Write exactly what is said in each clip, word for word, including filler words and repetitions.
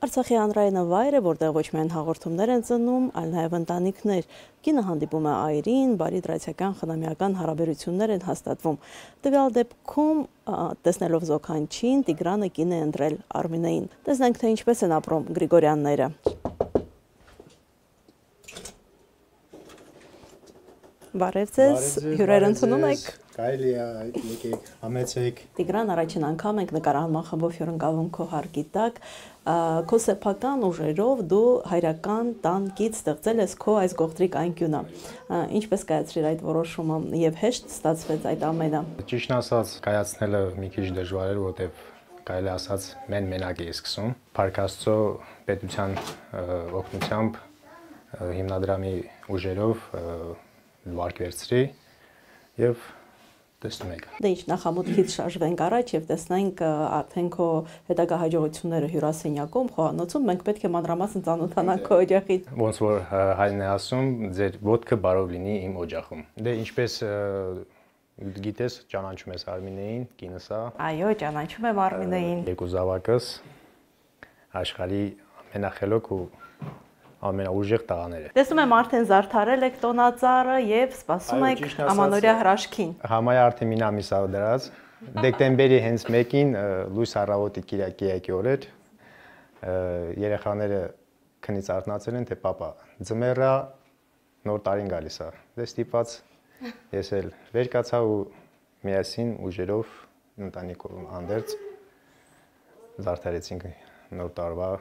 Արցախի հանրայինը վայր է, որտեղ ոչ միայն հաղորդումներ են ծնում, այլ նաև ընտանիքներ։ Կինը հանդիպում է այրին, բարի դրացիական խնամիական հարաբերություններ են հաստատվում։ Տվյալ դեպքում, տեսնելով զոքանչին, Տիգրանը կին է ընտրել Արմինեին։ Տեսնենք, թե ինչպես են ապրում Գրիգորյանները։ Բարև ձեզ, հյուրեր ընդունում եք։ Կարելի է եկեք, համեցեք։ Տիգրան, առաջին անգամ ենք նկարահանման խմբով հյուրընկալվում քո հարկի տակ։ Քո սեփական ուժերով դու հայրական տան կից ստեղծել ես քո այս գողտրիկ անկյունը։ Ինչպես կայացրիր այդ որոշումը եւ հեշտ ստացվեց այդ ամենը։ Ճիշտն ասած, կայացնելը մի քիչ դժվար էր, որտեղ կարելի ասած մեն մենակ էի սկսում։ Փառք Աստծո, պետության օգնությամբ հիմնադրամի ուժերով վարկ վերցրի եւ տեսնում եք։ Դե ինչ, նախամուտքից շարժվենք առաջ եւ տեսնենք արդեն քո հետագա հաջողությունները հյուրասենյակում, խոհանոցում, մենք պետք է մանրամասն ծանոթանանք քո օջախից։ Ոնց որ հայրն է ասում, ձեր ոտքը բարով լինի իմ օջախում։ Դե ինչպես գիտես, ճանաչում ես Արմինեին, կինս է։ Այո, ճանաչում եմ Արմինեին։ Երկու զավակս աշխարհի ամենախելոք ու ամենաուժեղ տղաները։ Տեսնում եմ արդեն զարդարել եք տոնածառը եւ սպասում եք ամանորյա հրաշքին։ Համայա արդեն մի ամիս ա դրած։ Դեկտեմբերի հենց մեկին լույս առավոտի Կիրակի օրեր երեխաները քնից արթնացել են, թե պապա, ձմեռա նոր տարին գալիս է։ Դե ստիպված ես էլ վեր կացա ու միասին ուժերով ընտանիքով անդերձ զարդարեցինք նոր տարվա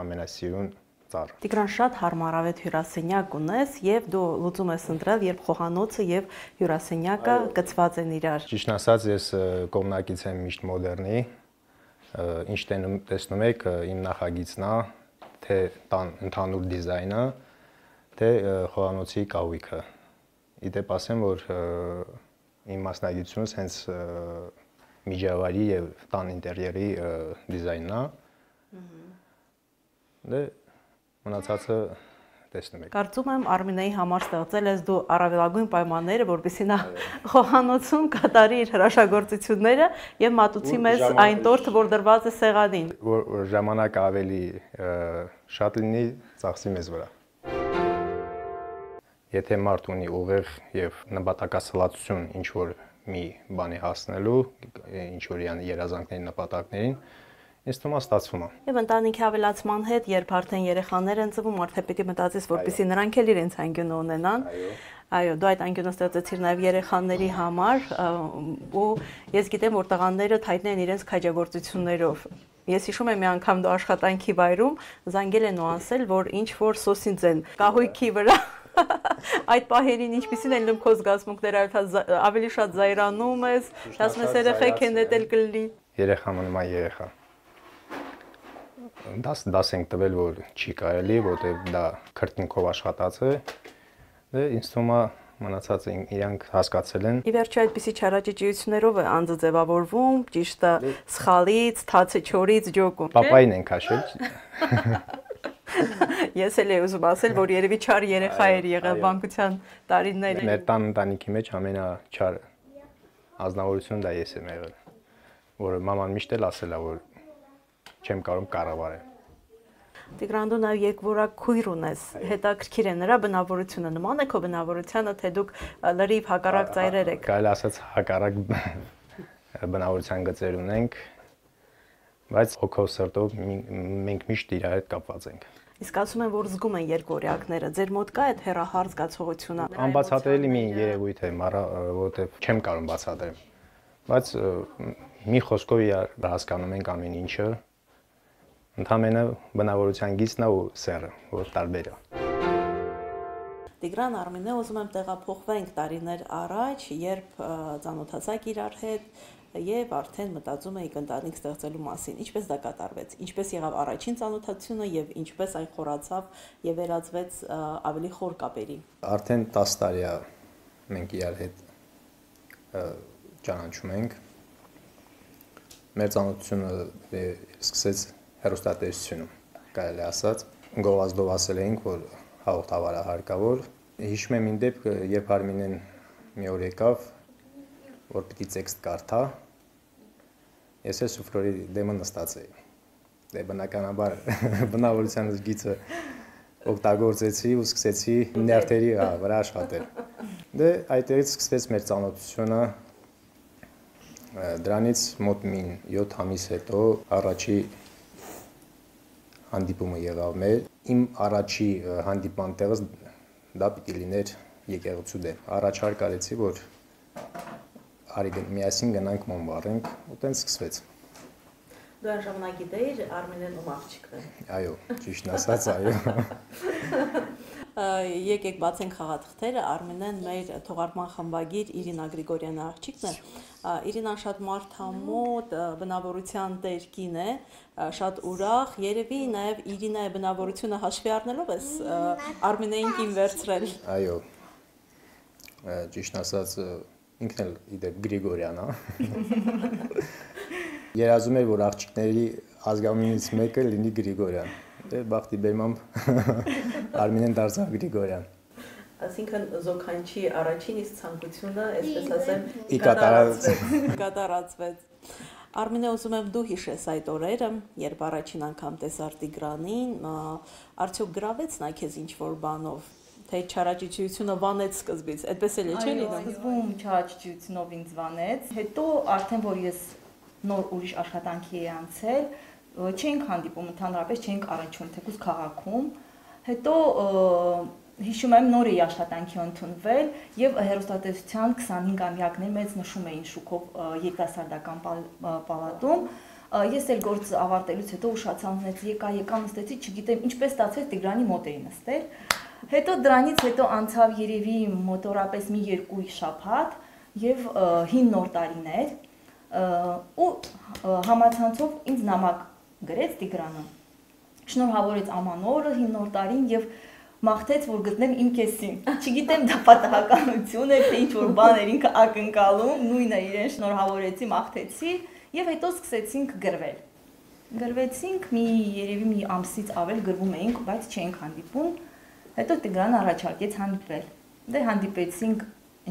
ամենասիրուն ծառը։ Տիգրան, շատ հարմարավետ հյուրասենյակ ունես եւ դու լուծում ես ընտրել, երբ խոհանոցը եւ հյուրասենյակը գծված են իրար։ Ճիշտն ասած, ես կողմնակից եմ միշտ մոդեռնի, ինչ տեսնում եք, իմ նախագիծն է, թե տան ընդհանուր դիզայնը, թե խոհանոցի կահույքը։ Իդեպ ասեմ, որ իմ մասնագիտությունս հենց միջավայրի եւ տան ինտերիերի դիզայնն է։ Դե մնացածը տեսնում եք։ Կարծում եմ Արմինեի համար ստեղծել ես դու առավելագույն պայմանները, որպեսզի նա խոհանոցում կատարի իր հրաշագործությունները եւ մատուցի մեզ այն տորթը, որ դրված է սեղանին։ Որ ժամանակը ավելի շատ լինի, ծախսի մեզ վրա։ Եթե մարդ ունի ուղեղ եւ նպատակասլացություն ինչ որ մի բանի հասնելու, ինչ որ երազանքների նպատակներին, ինձ թվում է ստացվում է։ Եվ ընտանիքի ավելացման հետ, երբ արդեն երեխաներ են ծնվում, արդեն պետք է մտածես, որպեսզի նրանք էլ իրենց անկյունը ունենան։ Այո, դու այդ անկյունը ստեղծեցիր նաև երեխաների համար, ու ես գիտեմ, որ տղաները թայտն են իրենց քաջագործություններով։ Ես հիշում եմ մի անգամ դու աշխատանքի վայրում զանգել են ու ասել, որ ինչ որ սոսինձ են կահույքի վրա։ Այդ պահերին ինչպիսին են քո զգացմունքները, ավելի շատ զայրանում ես, ասում ես երեխեք են դել կլինի։ Երեխա մնում է երեխա։ Դաս դաս ենք տվել, որ չի կարելի, որտեղ դա քրտնքով աշխատած է։ Դե ինձ թվում է մնացած իրանք հասկացել են։ Ի վերջո այդպիսի չարաճճիություններով է անձը ձևավորվում, ճիշտը սխալից, թացը չորից ջոկում։ Պապային են քաշել։ Ես էլ եմ ուզում ասել, որ երևի չար երեխա էր եղել բանկության տարիներին։ Մեր տան ընտանիքի մեջ ամենաչար ազնվորությունը դա ես եմ եղել, որ մաման միշտ էլ ասել է, որ չեմ կարող կառավարել։ Տիգրան, դու նաև երկվորակ քույր ունես, հետաքրքիր է նրա բնավորությունը, նման է քո բնավորությանը, թե դուք լրիվ հակառակ ծայրեր եք։ Կարելի ասած հակառակ բնավորության գծեր ունենք, բայց հոգով սրտով մենք միշտ իրար հետ կապված ենք։ Իսկ ասում են, որ զգում են երկվորյակները, ձեր մոտ կա այդ հեռահար զգացողությունը։ Անբացատրելի մի երևույթ է, որովհետև չեմ կարող բացատրել, բայց մի խոսքով իրար հասկանում ենք ամեն ինչը։ Ընդհանրապես բնավորության գիծն ու սերը, որ տարբեր է։ Տիգրան, Արմինե, ուզում եմ տեղափոխվենք տարիներ առաջ, երբ ծանոթացաք իրար հետ եւ արդեն մտածում էիք ընտանիք ստեղծելու մասին։ Ինչպես դա կատարվեց։ Ինչպես եղավ առաջին ծանոթացությունը եւ ինչպես այն խորացավ եւ վերածվեց ավելի խոր կապերի։ Արդեն տասը տարի է մենք իրար հետ ճանաչում ենք։ Մեր ծանոթությունը սկսեց հեռուստատեսությունում, կարելի ասած, գովազդով ասել էինք, որ հաղորդավար է հարկավոր։ Հիշում եմ մի դեպք, երբ Արմինեն մի օր եկավ, որ պիտի տեքստ կարդա, ես էլ սուֆլորի դեմը նստած էի։ դե բնականաբար բնավորության գիծը օգտագործեցի ու սկսեցի նյարդերի վրա աշխատել։ Դե այդտեղից սկսվեց մեր ծանոթությունը, դրանից մոտ մին յոթ ամիս հետո առաջի հանդիպումը եղավ մեր։ Իմ առաջի հանդիպման տեղը դա պիտի լիներ եկեղեցու դեմ։ Առաջարկ արեցի, որ արի միասին գնանք Մոնբարենք, ու տենց սկսվեց։ Դու այն ժամանակ գիտեիր Արմինեն ում աղջիկն է։ Այո, ճիշտ ասած, այո։ Եկեք բացենք խաղաթղթերը, Արմինեն մեր թողարկման խմբագիր Իրինա Գրիգորյանի աղջիկն է։ Իրինան շատ մարդամոտ բնավորության տեր կին է, շատ ուրախ, երևի նաև Իրինայի բնավորությունը հաշվի առնելով ես Արմինեին կին վերցրել։ Այո, ճիշտ ասած, ինքն էլ իդեպ Գրիգորյան է։ Երազում էր, որ աղջիկների ազգանունից մեկը լինի Գրիգորյան։ Դե բախտի բերմամբ Արմինեն դարձավ Գրիգորյան։ Այսինքն զոքանչի առաջին իսկ ցանկությունը, այսպես ասեմ, կատարածվեց։ Արմինե, ուզում եմ դու հիշես այդ օրերը, երբ առաջին անգամ տեսար Տիգրանին, արդյոք գրավեց նա քեզ ինչ-որ բանով, թե չարաճճիությունը վանեց սկզբից, այդպես էլ է, չէ՞ լինում։ Սկզբում չարաճճիությունով ինձ վանեց, հետո արդեն որ ես նոր ուրիշ աշխատանքի էի անցել, չենք հանդիպում, ընդհանրապես չենք առնչվում, թեկուզ քաղաքում, հետո հիշում եմ նոր էի աշխատանքի ընդունվել եւ հեռուստատեսության քսանհինգամյակներ մեծ նշում էին շուկով երիտասարդական պալատում։ Ես էլ գործ ավարտելուց հետո ուշացա, եկա, եկա նստեցի, չգիտեմ ինչպես ստացվեց Տիգրանի մոտ էի նստել։ Հետո դրանից հետո անցավ երևի մոտորապես մի երկու շաբաթ եւ հին նոր տարիներ ու համացանցով ինձ նամակ գրեց Տիգրանը։ Շնորհավորեց ամանորը, հին նոր տարին եւ մաղթեց, որ գտնեմ իմ կեսին։ Չգիտեմ դա պատահականություն է, թե ինչ-որ բան էր ինքը ակնկալում, նույնը իրեն շնորհավորեցի, մաղթեցի եւ հետո սկսեցինք գրվել։ Գրվեցինք, մի երևի մի ամսից ավել գրվում էինք, բայց չենք հանդիպում։ Հետո Տիգրանը առաջարկեց հանդիպել։ Դե հանդիպեցինք,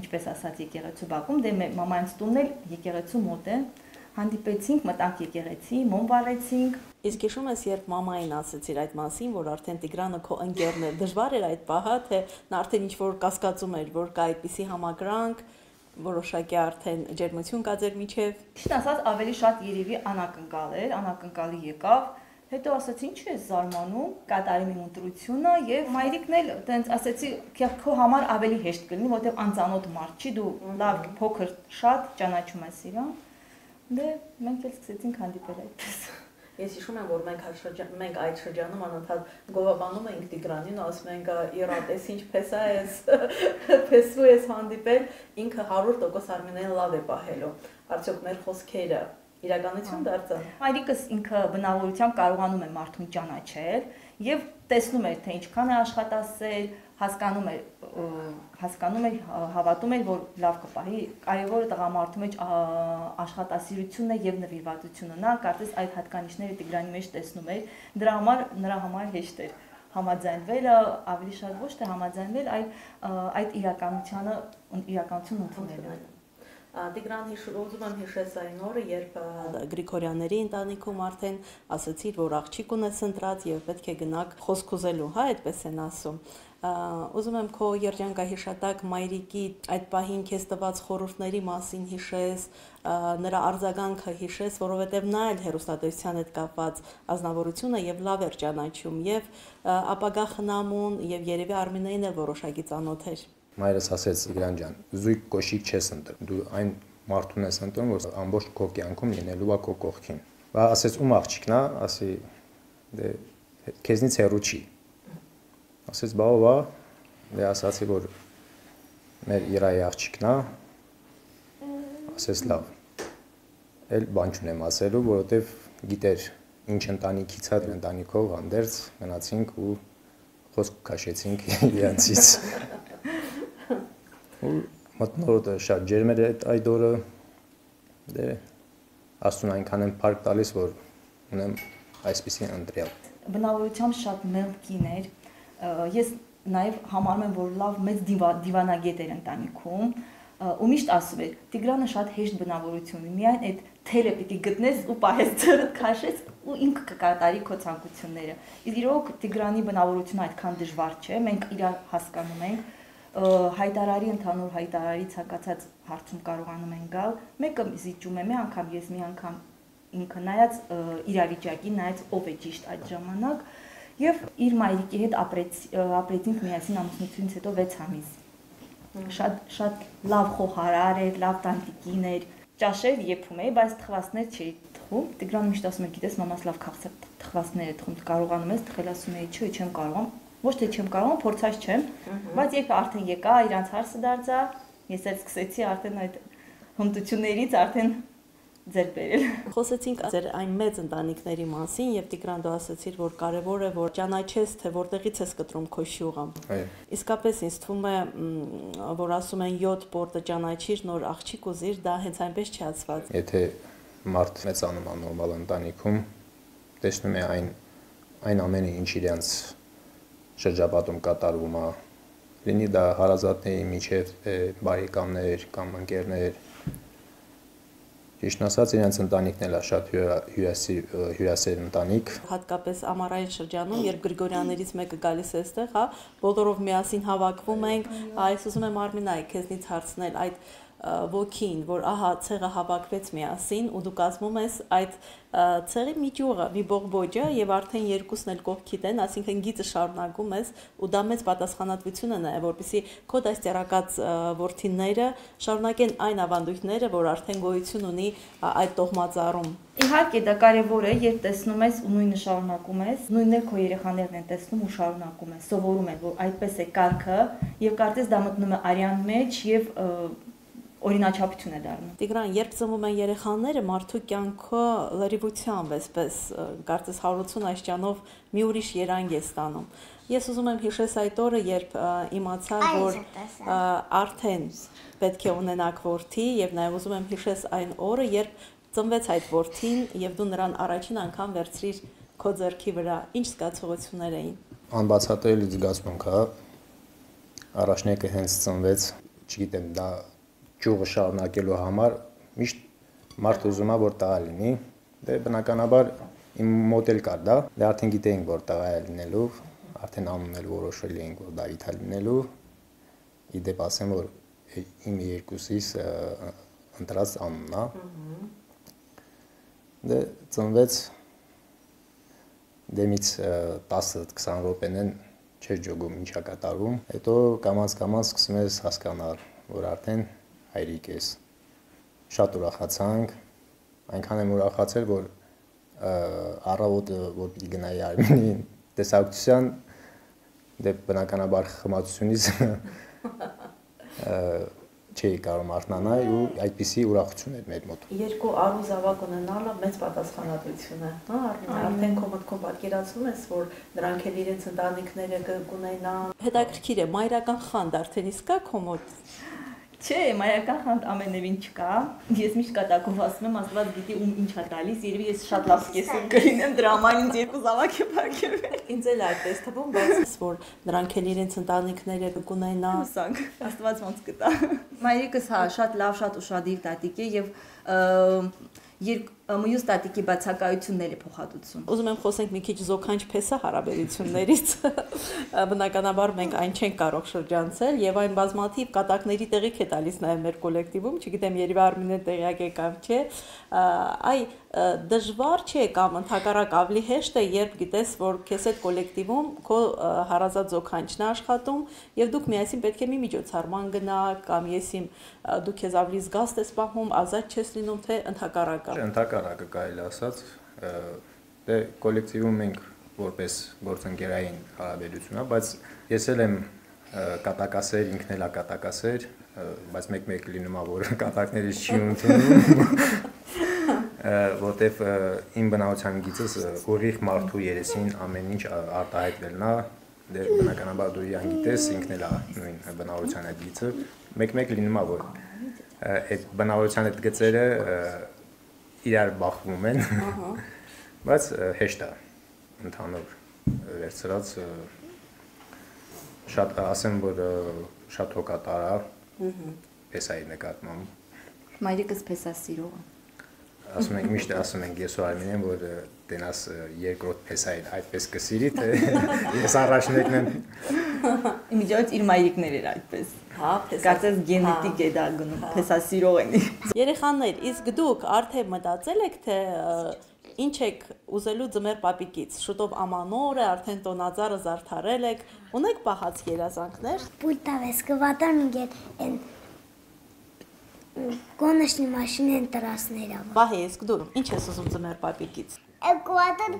ինչպես ասած, եկեղեցու բակում, դե մամայից տունն էլ եկեղեցու մոտ է։ Հանդիպեցինք, մտանք եկեղեցի, մոմ վառեցինք։ Իսկ հիշում ես, երբ մամային ասացիր այդ մասին, որ արդեն Տիգրանը քո ընկերն է, դժվար էր այդ պահը, թե նա արդեն ինչ-որ կասկածում էր, որ կա այդպիսի համակրանք, որոշակի արդեն ջերմություն կա ձեր միջև։ Ճիշտ ասած, ավելի շատ երևի անակնկալ էր, անակնկալի եկավ։ Հետո ասացի, ինչ ես զարմանում, կատարեմ իմ ընտրությունը եւ մայրիկն էլ տենց ասեցի, քո համար ավելի հեշտ կլինի, որովհետեւ անծանոթ մարդ չի, դու լավ փոքր շատ ճանաչում ես իրան։ Դե մենք էլ սկսեցինք հանդիպել այդպես։ Ես հիշում եմ, որ մենք մենք այդ շրջանում անընդհատ գովաբանում էինք Տիգրանին, ասում ենք իրատես ինչպես է, պես ու ես հանդիպել, ինքը հարյուր տոկոս Արմինեն լավ է պահելու։ Արդյոք մեր խոսքերը իրականություն դարձան։ Մայրիկս ինքը բնավորությամբ կարողանում է մարդուն ճանաչել եւ տեսնում էր, թե ինչքան է աշխատասեր, հասկանում էր, հասկանում էր, հավատում էր, որ լավ կպահի։ Կարևորը տղամարդու մեջ աշխատասիրությունն է եւ նվիրվածությունը։ Նա կարծես այդ հատկանիշները Տիգրանի մեջ տեսնում էր, դրա համար նրա համար հեշտ էր համաձայնվելը, ավելի շատ ոչ թե համաձայնվել, այլ այդ իրականությանը իրականություն ընդունելը։ Տիգրան, ուզում եմ հիշես այն օրը, երբ Գրիգորյանների ընտանիքում արդեն ասացիր, որ աղջիկ ունես ընտրած եւ պետք է գնաք խոսք ուզելու, հա, այդպես են ասում։ Ուզում եմ քո երջանկահիշատակ մայրիկի այդ պահին քեզ տված խորհուրդների մասին հիշես, նրա արձագանքը հիշես, որովհետեւ նա էլ հեռուստատեսության հետ կապված ազնվորություն է եւ լավ էր ճանաչում եւ ապագա խնամուն եւ երևի Արմինեին էլ որոշակի ծանոթ էր։ Մայրս ասեց Տիգրան ջան, զույգ կոշիկ չես ընտրում։ Դու այն մարդուն ես ընտրում, որ ամբողջ քո կյանքում լինելու է քո կողքին։ Բա ասեց ում աղջիկն է, ասի դե քեզնից հեռու չի։ Ասեց բա ո՞վ է։ Դե ասացի, որ մեր Իրայի աղջիկն է։ Ասեց լավ։ Էլ բան չունեմ ասելու, որովհետև գիտեր ինչ ընտանիքից է, ընտանիքով հանդերձ գնացինք ու խոսք քաշեցինք իրանցից։ Ու մտնորդը շատ ջերմ էր այդ օրը, դե աստուն այնքան եմ փառք տալիս, որ ունեմ այսպիսի ընտրյալ։ Բնավորությամբ շատ մեղմ կին էր, ես նաև համարում եմ, որ լավ մեծ դիվանագետ էր ընտանիքում, ու միշտ ասում էր, Տիգրանը շատ հեշտ բնավորություն ունի, միայն այդ թելը պիտի գտնես ու պահես ձեռդ քաշես ու ինքը կկատարի քո ցանկությունները։ Իրոք Տիգրանի բնավորությունը այդքան դժվար չէ, մենք իրար հասկանում ենք, հայտարարի ընդհանուր հայտարարի ցանկացած հարցում կարողանում են գալ, մեկը զիջում է, մի անգամ ես, մի անգամ ինքը, նայած իրավիճակի, նայած ով է ճիշտ այդ ժամանակ, եւ իր մայրիկի հետ ապրեց ապրեցինք միասին ամուսնությունից հետո վեց ամիս։ Շատ շատ լավ խոհարար էր, լավ տանտիկին էր, ճաշեր եփում էի, բայց թխվածներ չէի թխում։ Տիգրանը միշտ ասում էր, գիտես, մամաս լավ քաղցր թխվածներ է թխում, կարողանում ես թխել, ասում էի, չէ, չեմ կարողանում, ոչ թե չեմ կարողանում, փորձած չեմ, բայց երբ արդեն եկա, իրանց հարցը դարձա, ես էլ սկսեցի արդեն այդ հմտություններից արդեն ձեր բերել։ Խոսեցինք ձեր այն մեծ ընտանիքների մասին եւ Տիգրան դու ասացիր, որ կարեւոր է որ ճանաչես, թե որտեղից ես կտրում քո շյուղը։ Իսկապես ինձ թվում է, որ ասում են յոթ պորտը ճանաչիր, նոր աղջիկ ուզիր, դա հենց այնպես չացված։ Եթե մարդ մեծանում է նորմալ ընտանիքում, տեսնում է այն այն ամենը, ինչ իրենց շրջապատում կատարվում է, լինի դա հարազատների միջև բարեկամներ կամ ընկերներ, ճիշտ ասած, իրենց ընտանիքն էլ է շատ հյուրասեր ընտանիք։ Հատկապես ամառային շրջանում, երբ Գրիգորյաններից մեկը գալիս է այստեղ, հա, բոլորով միասին հավաքվում ենք, այս ուզում եմ Արմինա քեզնից հարցնել այդ ոգին, որ ահա ցեղը հավաքվեց միասին ու դու կազմում ես այդ ցեղի մի ճյուղը, մի բողբոջը եւ արդեն երկուսն էլ կողքիդ են, այսինքն գիծը շարունակում ես ու դա մեծ պատասխանատվություն է նաեւ, որպեսզի քո դաստիարակած որդիները շարունակեն այն ավանդույթները, որ արդեն գոյություն ունի այդ տոհմածառում։ Իհարկե դա կարևոր է, երբ տեսնում ես ու նույնը շարունակում ես, նույնն էլ քո երեխաներն են տեսնում ու շարունակում ես, սովորում են, որ այդպես է կարգը եւ կարծես դա մտնում է արյան մեջ եւ օրինաչափություն է դառնում։ Տիգրան, երբ ծնվում են երեխաները, մարդու կյանքը լրիվությամբ էսպես կարծես հարություն այսճանով մի ուրիշ երանգ է ստանում։ Ես ուզում եմ հիշես այդ օրը, երբ իմացա, որ արդեն պետք է ունենաք որդի եւ նաեւ ուզում եմ հիշես այն օրը, երբ ծնվեց այդ որդին եւ դու նրան առաջին անգամ վերցրիր քո ձեռքի վրա։ Ինչ զգացողություններ էին։ Անբացատրելի զգացմունք, հա։ Առաջնեկը հենց ծնվեց, չգիտեմ, դա ճյուղը շարունակելու համար միշտ մարդ ուզում է որ տղա լինի, դե բնականաբար իմ մոտ էլ կար դա, դե արդեն գիտեինք որ տղա է լինելու, արդեն անունն էլ որոշել էինք որ Դավիթ է լինելու, իդեպ ասեմ որ իմ երկուսիս ընտրած անունն է, դե ծնվեց դեմից տասը-քսան րոպեն չէր ջոգում ինչա կատարվում, հետո կամաց-կամաց սկսում ես հասկանալ, որ արդեն հայրիկ ես, շատ ուրախացանք, այնքան եմ ուրախացել, որ առավոտը, որ պիտի գնայի Արմինի տեսակցության, դե բնականաբար խմացությունից չէի կարող արթնանալ ու այդպիսի ուրախություն էր մեր մոտ։ Երկու առու զավակ ունենալը մեծ պատասխանատվություն է, հա, Արմին, արդեն քո մտքում պատկերացնում ես, որ նրանք էլ իրենց ընտանիքները կունենան։ Հետաքրքիր է, մայրական խանդ արդեն իսկ կա քո մոտ։ Չէ, մայրական խանդ ամենևին չկա։ Ես միշտ կատակով ասում եմ, Աստված գիտի ում ինչ է տալիս, երևի ես շատ լավ սկեսում կլինեմ, դրա համար ինձ երկու զավակ է փակել։ Ինձ էլ այդպես թվում, բայց որ նրանք էլ իրենց ընտանիքները կունենան։ Հուսանք, Աստված ոնց կտա։ Մայրիկս հա շատ լավ, շատ ուշադիր տատիկ է եւ մյուս տատիկի բացակայությունն էլ է փոխհատուցում։ Ուզում եմ խոսենք մի քիչ զոքանչ փեսա հարաբերություններից։ Բնականաբար մենք այն չենք կարող շրջանցել եւ այն բազմաթիվ կատակների տեղիք է տալիս նաեւ մեր կոլեկտիվում, չգիտեմ երևի Արմինը տեղյակ է կամ չէ։ Այ դժվար չէ կամ ընդհակառակ ավելի հեշտ է, երբ գիտես, որ քեզ այդ կոլեկտիվում քո հարազատ զոքանչն է աշխատում եւ դուք միասին պետք է մի միջոցառման գնաք կամ եսիմ դու քեզ ավելի զգաստ ես պահում, ազատ չես լինում, թե ընդհակառակը։ Ընդհակառակը կարելի ասած, դե կոլեկտիվում մենք որպես գործընկերային հարաբերություն, բայց ես էլ եմ կատակասեր, ինքն էլ է կատակասեր, բայց մեկ-մեկ լինում է որ կատակներից չի ընդունում, որտեվ իմ բնավորության գիծս ուղիղ մարդու երեսին ամեն ինչ արտահայտվելն է, դե բնականաբար դու իրան գիտես, ինքն էլ է նույն բնավորության այդ գիծը, մեկ-մեկ լինում է որ այդ բնավորության այդ գծերը իրար բախվում են, բայց հեշտ է ընդհանուր վերցրած, շատ ասեմ, որ շատ հոգատար է, փեսայի նկատմամբ։ Մայրիկս փեսա սիրող է։ ասում ենք միշտ ասում ենք ես ու Արմինեն, որ տենաս երկրորդ փեսային այդպես կսիրի, թե ես առաջնեկն եմ։ Իմիջիայից իր մայրիկներ էր այդպես։ Հա, փեսա։ Կարծես գենետիկ է դա գնում, փեսասիրող են։ Երեխաներ, իսկ դուք արդեն մտածել եք, թե ինչ եք ուզելու ձմեռ պապիկից։ Շուտով ամանոր է, արդեն տոնածառը զարդարել եք, ունեք պահած երազանքներ։ Пульта вескаватор мгет ен գոնեշնի մաշինեն տրասներով։ Վահե, իսկ դու ինչ ես ուզում ձմեռ պապիկից։ Էկուատոր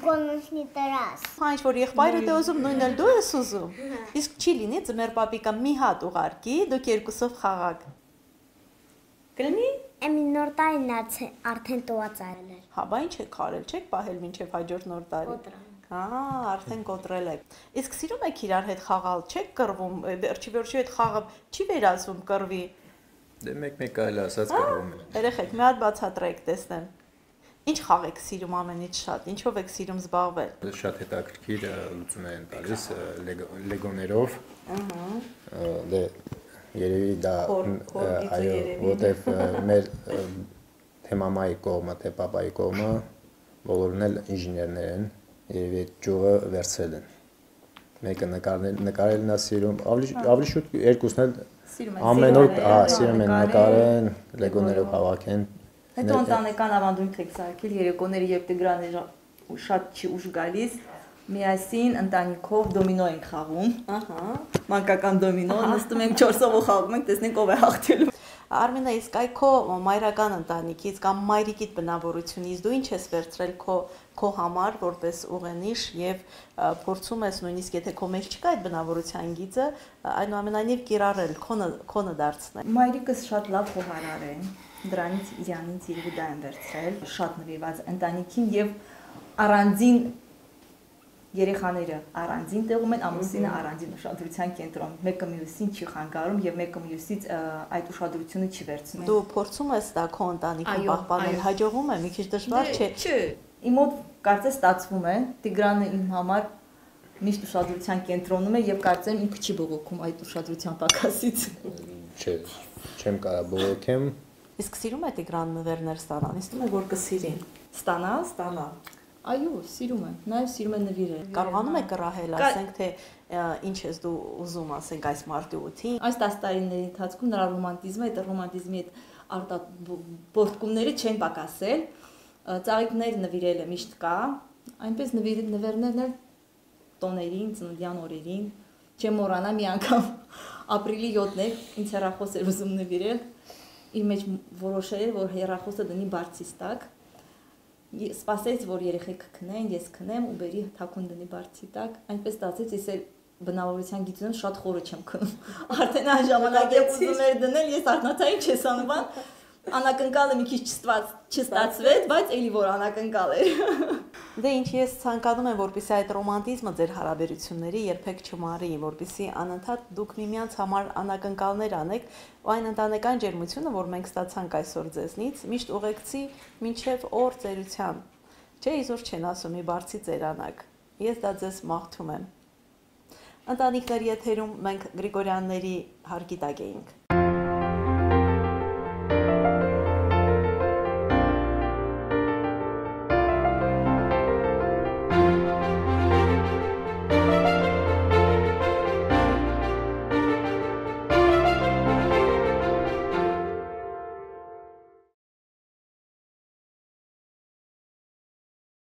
գոնեշնի տրաս։ Հա, ինչ որ եղբայրդ է ուզում, նույնն էլ դու ես ուզում։ Իսկ չի լինի ձմեռ պապիկը մի հատ ուղարկի, դուք երկուսով խաղաք։ Կլինի։ Էմի նոր տարին արդեն տոված արել էր։ Հա, բա ինչ եք արել, չեք պահել մինչև հաջորդ նոր տարի։ Հա, արդեն կոտրել եք։ Իսկ սիրում եք իրար հետ խաղալ, չեք կռվում, վերջի վերջի այդ խաղը չի վերածվում կռվի։ Դե մեկ-մեկ կարելի ասած կռվում են։ Երեխեք, մի հատ բացատրեք, տեսնեմ։ Ինչ խաղ եք սիրում ամենից շատ, ինչով եք սիրում զբաղվել։ Շատ հետաքրքիր լուծում են տալիս լեգոներով։ Ահա։ Դե երևի դա այո, որտեվ մեր թե մամայի կողմը, թե պապայի կողմը բոլորն էլ ինժեներներ են, երևի այդ ճյուղը վերցրել են։ Մեկը նկարելն է սիրում, ավելի շուտ երկուսն էլ ամեն օր սիրում են նկարեն, լեգոներով հավաքեն։ Հետո ընտանեկան ավանդույթ եք սարքել երեկոները, երբ Տիգրանը շատ չի ուշ գալիս, միասին ընտանիքով դոմինո ենք խաղում։ Ահա, մանկական դոմինո, նստում ենք չորսով ու խաղում ենք, տեսնենք ով է հաղթելու։ Արմինե, իսկ այ քո մայրական ընտանիքից կամ մայրիկիդ բնավորությունից դու ինչ ես վերցրել քո քո համար որպես ուղենիշ եւ փորձում ես նույնիսկ եթե քո մեջ չկա այդ բնավորության գիծը, այնուամենայնիվ կիրառել, քոնը քոնը դարձնել։ Մայրիկս շատ լավ խոհարար է, դրանից իրանից երևի դա են վերցրել, շատ նվիրված ընտանիքին եւ առանձին երեխաները առանձին տեղում են, ամուսինը առանձին ուշադրության կենտրոն։ Մեկը մյուսին չի խանգարում եւ մեկը մյուսից այդ ուշադրությունը չի վերցնում։ Դու փորձում ես դա քո ընտանիքին պահպանել, հաջողվում է, մի քիչ դժվար չէ։ Չէ, իմ մոտ կարծես ստացվում է, Տիգրանը իմ համար միշտ ուշադրության կենտրոնում է եւ կարծեմ ինքը չի բողոքում այդ ուշադրության պակասից։ Չէ, չեմ կարող բողոքեմ։ Իսկ սիրում է Տիգրան նվերներ ստանալ, ինձ թվում է որ կսիրի։ Ստանալ, ստանալ։ Այո, սիրում է, նաև սիրում է նվիրել։ Կարողանում եք կռահել, ասենք թե ինչ ես դու ուզում, ասենք այս մարտի ութին։ Այս տասը տարիների ընթացքում նրա ռոմանտիզմը, այդ ռոմանտիզմի այդ արտաբորդկումները չեն պակասել։ Ծաղիկներ նվիրելը միշտ կա, այնպես նվերներն էլ տոներին, ծննդյան օրերին։ Չեմ մոռանա մի անգամ ապրիլի յոթն էր, ինձ հեռախոս էր ուզում նվիրել։ Իր մեջ որոշել էր, որ հեռախոսը դնի բարձից տակ։ Սպասեց, որ երեխեքը քնեն, ես քնեմ ու բերի թաքուն դնի բարձի տակ, այնպես ստացեց, ես էլ բնավորության գիտունեմ շատ խորը չեմ քնում։ Արդեն այն ժամանակ եմ ուզում էր դնել, ես արթնացա ինչ ես անում, անակնկալը մի քիչ չստացվեց, բայց էլի որ անակնկալ էր։ Դե ինչ ես ցանկանում եմ, որպեսզի այդ ռոմանտիզմը ձեր հարաբերությունների երբեք չմարի, որպեսզի անընդհատ դուք միմյանց համար անակնկալներ անեք, ու այն ընտանեկան ջերմությունը, որ մենք ստացանք այսօր ձեզնից, միշտ ուղեկցի մինչև օր ծերության։ Չէ, իզուր չեն ասում՝ մի բարձի ծերանակ։ Ես դա ձեզ մաղթում եմ։ Ընտանիքների եթերում մենք Գրիգորյանների հարկի տակ էինք։